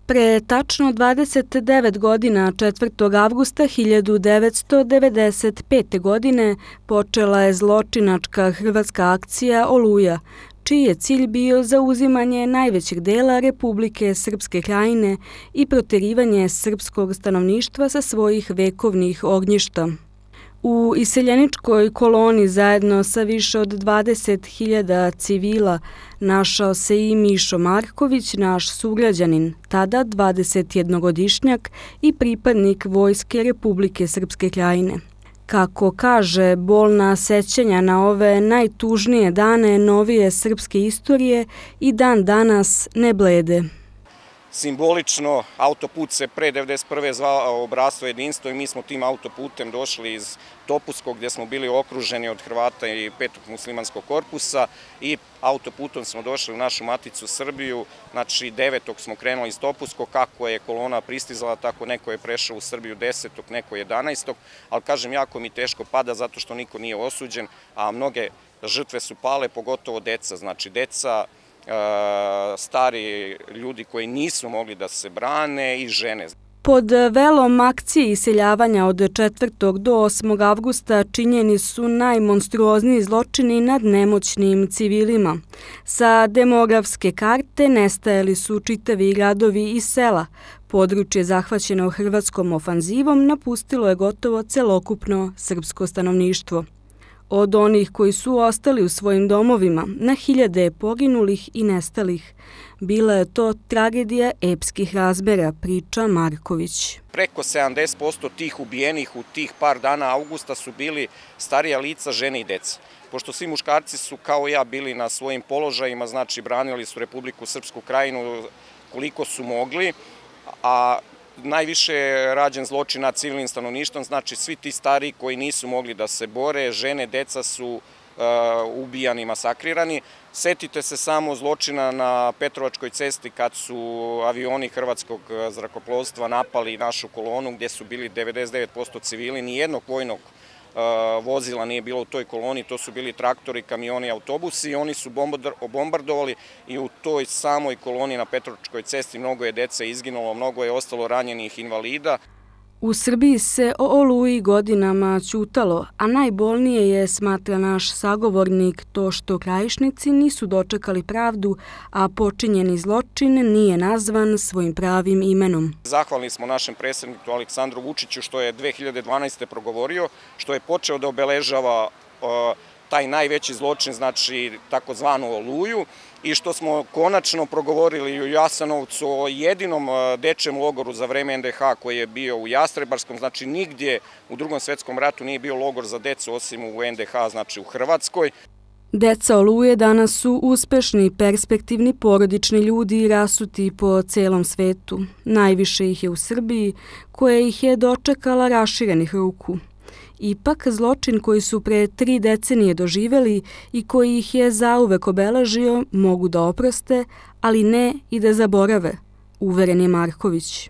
Pre tačno 29 godina, 4. avgusta 1995. godine, počela je zločinačka hrvatska akcija Oluja, čiji je cilj bio zauzimanje najvećeg dela Republike Srpske Krajine i proterivanje srpskog stanovništva sa svojih vekovnih ognjišta. U iseljeničkoj koloni zajedno sa više od 20.000 civila našao se i Mišo Marković, naš sugrađanin, tada 21-godišnjak i pripadnik Vojske Republike Srpske Krajine. Kako kaže, bolna sećanja na ove najtužnije dane novije srpske istorije i dan danas ne blede. Simbolično, autoput se pre 1991. zvao Obrasstvo jedinstvo i mi smo tim autoputem došli iz Topuskog gdje smo bili okruženi od Hrvata i 5. muslimanskog korpusa i autoputom smo došli u našu maticu Srbiju, znači 9. smo krenuli iz Topuskog, kako je kolona pristizala, tako neko je prešao u Srbiju 10. neko 11. Ali kažem, jako mi teško pada zato što niko nije osuđen, a mnoge žrtve su pale, pogotovo deca, znači deca, stari ljudi koji nisu mogli da se brane i žene. Pod velom akcije iseljavanja od 4. do 8. avgusta činjeni su najmonstruozniji zločini nad nemoćnim civilima. Sa demografske karte nestajali su čitavi gradovi i sela. Područje zahvaćeno hrvatskom ofanzivom napustilo je gotovo celokupno srpsko stanovništvo. Od onih koji su ostali u svojim domovima, na hiljade poginulih i nestalih. Bila je to tragedija epskih razmera, priča Marković. Preko 70% tih ubijenih u tih par dana avgusta su bili starija lica, žene i deca. Pošto svi muškarci su kao ja bili na svojim položajima, znači branili su Republiku Srpsku Krajinu koliko su mogli, a najviše je rađen zločin nad civilnim stanovništvom, znači svi ti stariji koji nisu mogli da se bore, žene, deca su ubijani i masakrirani. Setite se samo zločina na Petrovačkoj cesti kad su avioni hrvatskog zrakoplovstva napali našu kolonu gdje su bili 99% civili, nijednog vojnog vozila nije bilo u toj koloni, to su bili traktori, kamioni, autobusi i oni su bombardovali i u toj samoj koloni na Petrovačkoj cesti mnogo je dece izginulo, mnogo je ostalo ranjenih invalida. U Srbiji se o Oluji godinama ćutalo, a najbolnije je, smatra naš sagovornik, to što Krajišnici nisu dočekali pravdu, a počinjeni zločin nije nazvan svojim pravim imenom. Zahvalni smo našem predsjedniku Aleksandru Vučiću što je 2012. progovorio, što je počeo da obeležava taj najveći zločin, znači takozvanu Oluju, i što smo konačno progovorili u Jasenovcu o jedinom dečjem logoru za vreme NDH koji je bio u Jastrebarskom, znači nigdje u Drugom svjetskom ratu nije bio logor za decu osim u NDH, znači u Hrvatskoj. Deca Oluje danas su uspešni, perspektivni, porodični ljudi rasuti po celom svetu. Najviše ih je u Srbiji, koja ih je dočekala raširenih ruku. Ipak, zločin koji su pre 3 decenije doživeli i koji ih je zauvek obeležio mogu da oproste, ali ne i da zaborave, uveren je Marković.